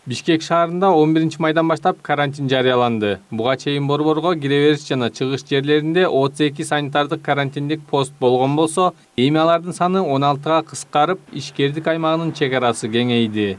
Бишкек шаарында 11 майдан баштап карантин жарыяланды. Буга чейин борборго кире бериш жана чыгыш жерлеринде 32 санитардык карантиндик пост болгон болсо, эми алардын саны 16га кыскарып, ишкердик аймагынын чек арасы кеңейди.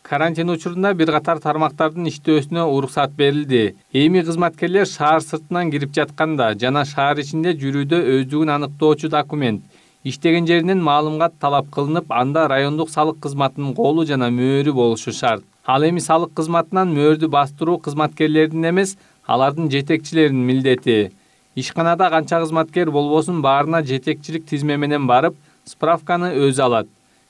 Карантин учурунда бир катар тармактардын иштөөсүнө уруксат берилди. Эми кызматкерлер шаар сыртынан кирип жатканда жана шаар ичинде жүрүүдө өздүгүн аныктоочу документ, иштеген жеринен маалымат талап кылынып, анда райондук салык кызматынын колу жана мөөрү болушу шарт. Ал эми салык кызматынан мөөрдү бастыруу кызматкерлердин эмес, алардын жетекчилеринин милдети. Ишканада канча кызматкер болбосун баарына жетекчилик тизме менен барып, справканы өзү алат.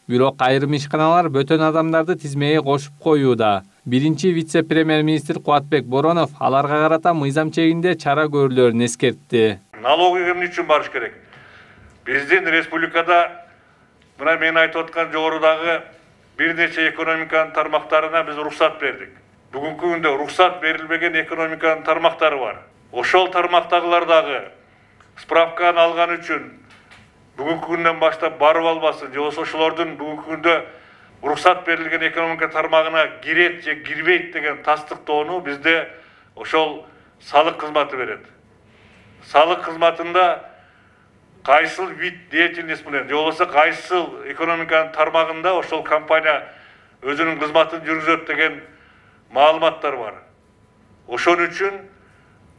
Бирок айрым ишканалар бөтөн адамдарды тизмеге кошуп коюуда. Биринчи вице-премьер-министр Кубатбек Боронов аларга карата мыйзам чегинде чара көрүлөрүн эскертти. Налоговый эмне үчүн барыш керек? Биздин республикада мына мен айтып аткан жогорудагы бир нече экономиканын тармактарына биз уруксат бердик. Бүгүнкү күндө уруксат берилбеген экономиканын тармактары бар. Ошол тармактагылардагы справканы алган үчүн бүгүнкү күндөн баштап барып албасын, же болбосо ошолордун бүгүнкү күндө уруксат берилген экономика тармагына кирет же кирбейт деген тастыктоону бизде ошол салык кызматы берет. Салык кызматында кайсыл вид деятельность менен, же болбосо кайсыл экономиканын тармагында ошол компания өзүнүн кызматын жүргүзөт деген маалыматтар бар. Ошон үчүн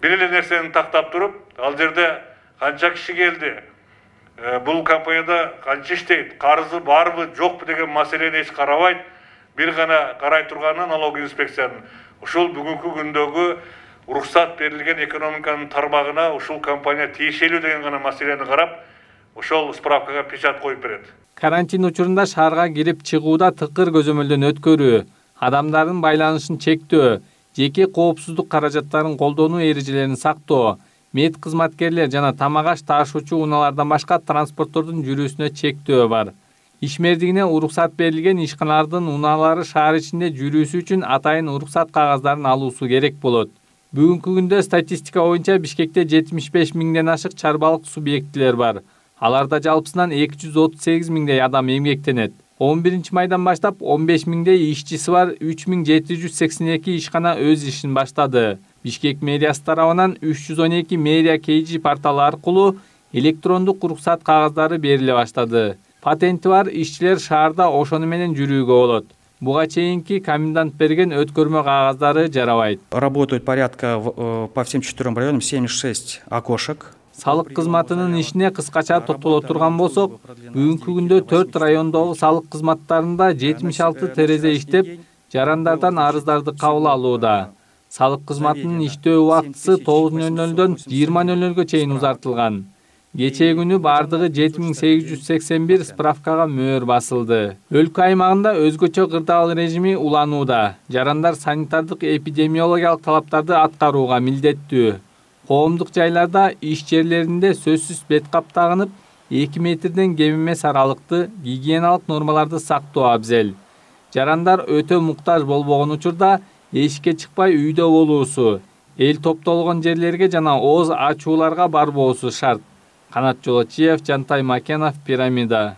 бир эле нерсени тактап туруп, ал жерде канча киши келди, бул компанияда канча иштейт, карызы барбы, жокпу деген маселени эч карабайт, бир гана карай турганы налоговый инспекциянын. Ошол бүгүнкү күндөгү уруксат берилген экономиканын тармагына ушул компания тиешелүү деген гана маселени карап, ошол справкага печать коюп берет. Карантин учурунда шаарга кирип чыгууда тыкыр көзөмөлдөн өткөрүү, адамдардын байланышын чектөө, жеке коопсуздук каражаттарын колдонуу эрежелерин сактоо, мед кызматкерлер жана тамак-аш ташуучу унаалардан башка транспорттордун жүрүүсүнө чектөө бар. Ишмердигине уруксат берилген ишканалардын унаалары шаар ичинде жүрүүсү үчүн атайын уруксат кагаздарын алуусу керек болот. Бүгүнкү күндө статистика боюнча Бишкекте 75 миңден ашык чарбалык субъектилер бар. Аларда жалпысынан 238 миңдей адам эмгектенет. 11 майдан баштап 15 миңдей ишчиси бар 3782 ишкана өз ишин баштады. Бишкек мэриясы тарабынан 312 мэрия KG порталы аркылуу электрондук уруксат кагаздары бериле баштады. Патенти бар ишчилер шаарда ошону менен жүрүүгө болот. Буга чейинки комендант берген өткөрмө кагаздары жарабайт. Работают порядка по всем 4 районам 76 окошек. Салык кызматынын ишине кыскача токтоло турган болсок, бүгүнкү күндө 4 райондогу салык кызматтарында 76 терезе иштеп, жарандардан арыздарды кабыл алууда. Салык кызматынын иштөө убактысы 9:00-дөн 20:00-га чейин узартылган. Кечээ күнү бардыгы 7881 справкага мөөр басылды. Өлкө аймагында өзгөчө кырдаал режими уланууда. Жарандар санитардык эпидемиологиялык талаптарды аткарууга милдеттүү. Коомдук жайларда, иш жерлеринде сөзсүз бет кап тагынып, 2 метрден кем эмес аралыкты гигиеналык нормаларды сактоо абзел. Жарандар өтө муктаж болбогон учурда эшикке чыкпай үйдө болуусу, эл топтолгон жерлерге жана ооз ачууларга барбоосу шарт. Канат Жолочиев, Жантай Макенов, Пирамида.